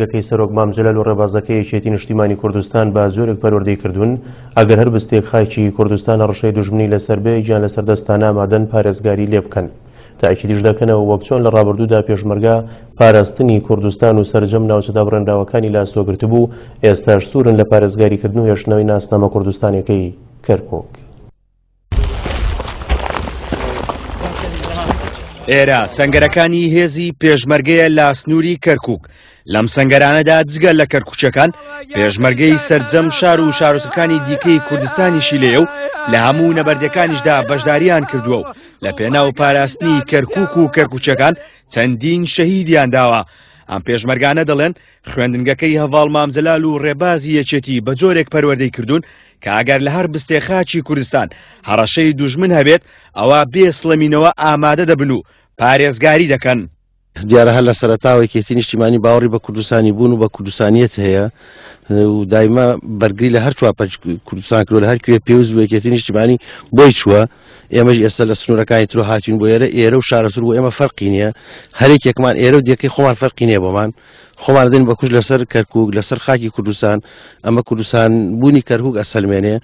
گەکەی سەرۆک مام جەلال و ڕێبازەکەی یەکێتی نیشتیمانی کوردستان بە جۆرێک پەروەردەی کردوون ئەگەر هەر بستێک خاکی کوردستان هەڕەشەی دوژمنی لەسەر بێ گیان لەسەر دەستانە ئامادەن پارێزگاری لێ بکەن. تاکیدیش دەکەنەوە وەک چۆن لە ڕابردوودا پێشمەرگە پاراستنی کوردستان و سەرجەم ناوچە دابڕێنراوەکانی لە ئەستۆ گرتبوو، ئێستاش سوورن لە پارێزگاریکردن و هێشتنەوەی ناسنامە کوردستانیەکەی کەرکوک. ئێرە سەنگەرەکانی هێزی پێشمەرگەیە لە سنووری کەرکک لەم سەنگەرانەدا جگە لە کەرکوچەکان پێشمەرگەی سەرجەم شار و شارۆچکەکانی دیکەی کوردستانیشی لێیە و لە هەموو نەبەردەکانیشدا بەشداریان کردووە و لە پێناو پاراستنی کەرکک و کەرکوچەکان چەندین شەهیدیان داوە ئەم پێشمەرگانە دەڵێن خوێندنگەکەی هەڤاڵ مام جەلال و ڕێبازی یەکێتی بە جۆرێک پەروەردەی کردوون کە ئەگەر لە هەر بستێ خاکی کوردستان هەڕەشەی دوژمن هەبێت ئەوا بێ سڵەمینەوە ئامادە دەبن و پارێزگاری دەکەن. دیارە هەر لە سەرەتاوە یەکێتی نیشتیمانی باوەڕی بە کوردستانی بوون و بە کوردستانیەت هەیە و دایمە بەرگری لە هەر چوار پارچەی کوردستان کردووە لە هەر کوێ پێویست بوو یەکێتی نیشتیمانی بۆی چووە ئێمەش ئێستا لە سنوورەکانی ترۆ هاتوین بۆ ئێرە ئێرە و شارەزوور بۆ ئێمە فەرقی نییە هەرێکێکمان ئێرە و دێکەی خۆمان فەرقی نییە بۆمان خۆمان دەین بە کوشت لەسەر کەرکوک لەسەر خاکی کوردستان ئەمە کوردستان بوونی کەرکوک ئەسەلمێنێ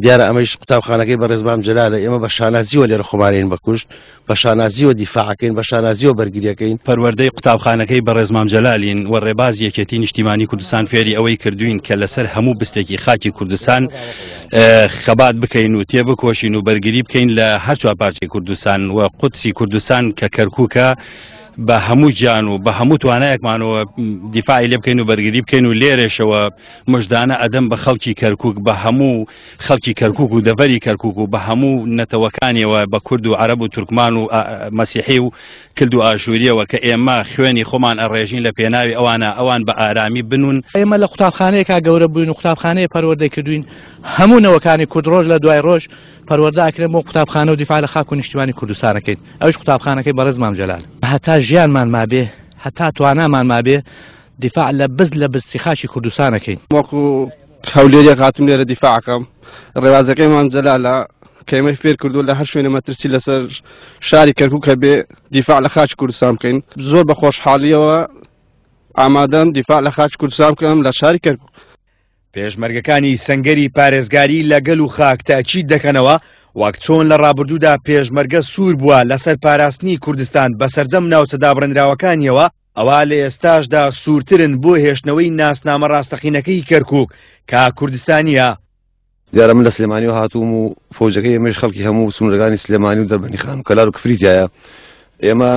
دیارە ئەمەیش قوتابخانەکەی بەڕێز مام جەلالە ئێمە بە شانازیوە لێرە خۆمانین بە کوشت بە شانازیوە دیفاعەکەین بە شانازیوە بەرگریەکەین. پەروەردەی قوتابخانەکەی بەڕێز مام جەلالین و ڕێبازی یەکێتی نیشتیمانی کوردستان فێری ئەوەی کردوین کە لەسەر هەموو بستێکی خاکی کوردستان خەبات بکەین و تێبکۆشین و بەرگری بکەین لە هەر چوار پارچەی کوردستان و قودسی کوردستان کە کەرکوکە بە هەموو گیان و بە هەموو توانایەکمانەوە دیفاعی لێ بکەین و بەرگری بکەین و لێرەشەوە مژدانە ئەدەم بە خەڵکی کەرکک بە هەموو خەڵکی کەرکک و دەڤەری کەرکک و بە هەموو نەتەوەکانیەوە بە کورد و عەرەب و تورکمان و مەسیحی و کلد و ئاشووریەوە کە ئێمە خوێنی خۆمان ئەڕێژین لە پێناوی ئەوانە ئەوان بە ئارامی بنون. ئێمە لە قوتابخانەیەکا گەورە بووین و قوتابخانەیە پەروەردەی کردوین هەموو نەوەکانی کورد ڕۆژ لە دوای ڕۆژ پەروەردە ئەکرێن بۆ قوتابخانە و دیفاع لە خاک و نیشتیمانی کوردستان ئەکەین ئەویش قوتابخانەکەی بەڕێز مام جەلال. هەتا ژیانمان مابێ هەتا توانامان مابێ دیفاع لە بز لە بزتی خاکی کوردستان ئەکەین. وەکو هەولێریەک هاتوم لێرە دیفاع ئەکەم ڕێبازەکەی مام جەلالە کە ئێمەی فێر کردووە لە هەر شوێنە مەترسی لەسەر شاری کەرکوک هەبێ دیفاع لە خاکی کوردستان بکەین زۆر بە خۆشحاڵیەوە ئامادەم دیفاع لە خاکی کوردستان بکەم لە شاری کەرکوک. پێشمەرگەکانی سەنگەری پارێزگاری لە گەل و خاک تەئکید دەکەنەوە، وەک چۆن لە ڕابردوودا پێشمەرگە سوور بووە لەسەر پاراستنی کوردستان بە سەرجەم ناوچە دابڕێنراوەکانیەوە، ئەوا لە ئێستاشدا سوورترن بۆ هێشتنەوەی ناسنامە ڕاستەقینەکەی کەرکووک کە کوردستانییە. دیارە من لە سلێمانیەوە هاتووم و فەوجەکەی ئێمەش خەڵکی هەموو سنوورەکانی سلێمانی و دەربەندیخان و کەلار و کفری تایە. ئێمە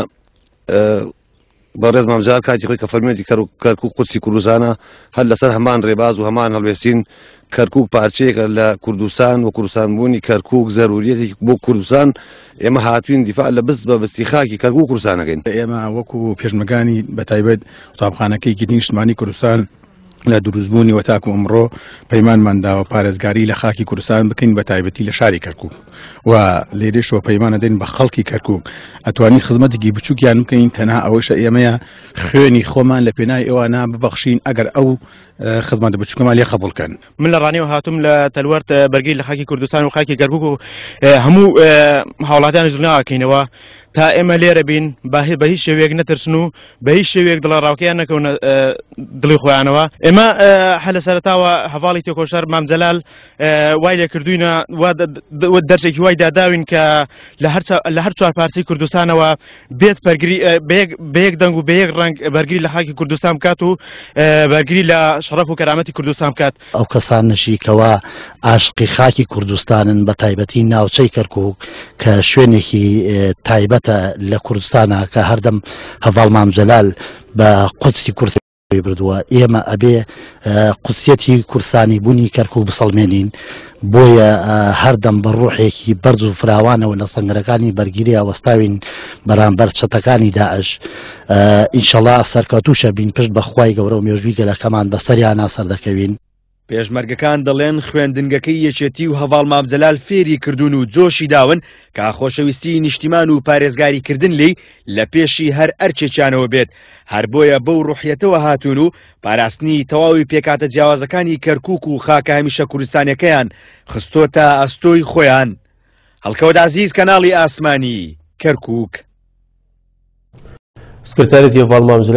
بەڕێز مام جەلال کاتی خۆی کە فەرموویەتی کەرکوک قودسی کوردستانە هەر لەسەر هەمان ڕێباز و هەمان هەڵوێستین کەرکوک پارچەیەکە لە کوردستان و کوردستانبوونی کەرکوک زەروریەتێکی بۆ کوردستان ئێمە هاتوین دیفاع لە بست بە بستی خاکی کەرکوک کوردستانەکەین. ئێمە وەکو پێشمەرگانی بەتایبەت قوتابخانەکەی یەکێتی نیشتمانی کوردستان لە دروستبوونی وە تاکو ئەمڕۆ پەیمانمان داوە پارێزگاری لە خاکی کوردستان بکەین بە تایبەتی لە شاری کەرکوک و لێرەشەوە پەیمان دەدەین بە خەڵکی کەرکوک ئەتوانین خزمەتێکی بچووکیان بکەین تەنها ئەوەشە ئێمەیە خوێنی خۆمان لە پێناوی ئەوانە ببەخشین ئەگەر ئەو خزمەتە بچووکەمان لێ قبوڵ کەن. من لە ڕانیەوە هاتووم لە تەلوەرت بەرگری لە خاکی کوردستان و خاکی کەرکوک و هەموو هاوڵاتیانیش دڵنیاکەینەوە تا ئێمە لێرە بین بە هیچ شێوەیەک نەترسن و بە هیچ شێوەیەک دڵەڕاوکەیان نەکەونە دڵی خۆیانەوە ئێمە هەر لە سەرەتاوە هەڤاڵی تێکۆشەر مام جەلال وای لێ کردوینە دەرسێکی وای داداوین کە لە هەر چوار پارچەی کوردستانەوە بێت بەرگری بە یەک دەنگ و بە یەک ڕەنگ بەرگری لە خاکی کوردستان بکات و بەرگری لە شەڕەف و کەرامەتی کوردستان بکات. ئەو کەسانەشی کەوا ئاشقی خاکی کوردستانن بە تایبەتی ناوچەی کەرکوک کە شوێنێکی تایبەتە لە کوردستانە کە هەردەم هەڤاڵ مام جەلال بە قودسی کوردستانی بردووە ئێمە ئەبێ قودسیەتی کوردستانی بوونی کەرکوک بسەڵمێنین بۆیە هەردەم بە ڕوحێکی بەرز و فراوانەوە لە سەنگەرەکانی بەرگیری وەستاوین بەرامبەر چەتەکانی داعش ئینشەڵا سەرکەوتووشە بین پشت بە خوای گەورە و مێژووی گەلەکەمان بەسەریانا سەردەکەوین. پێشمەرگەکان دەڵێن خوێندنگەکەی یەکێتی و هەڤاڵ مام جەلال فێری کردوون و جۆشی داون کە خۆشەویستی نیشتیمان و پارێزگاری کردن لێی لە پێشی هەر ئەرکێکیانەوە بێت، هەر بۆیە بەو ڕوحیەتەوە هاتوون و پاراستنی تەواوی پێکهاتە جیاوازەکانی کەرکوک و خاکە هەمیشە کوردستانیەکەیان خستۆتە ئەستۆی خۆیان. هەڵکەوت عەزیز کەناڵی ئاسمانی کەرکوک. سکرتارێتی هەڤاڵ مام جەلال.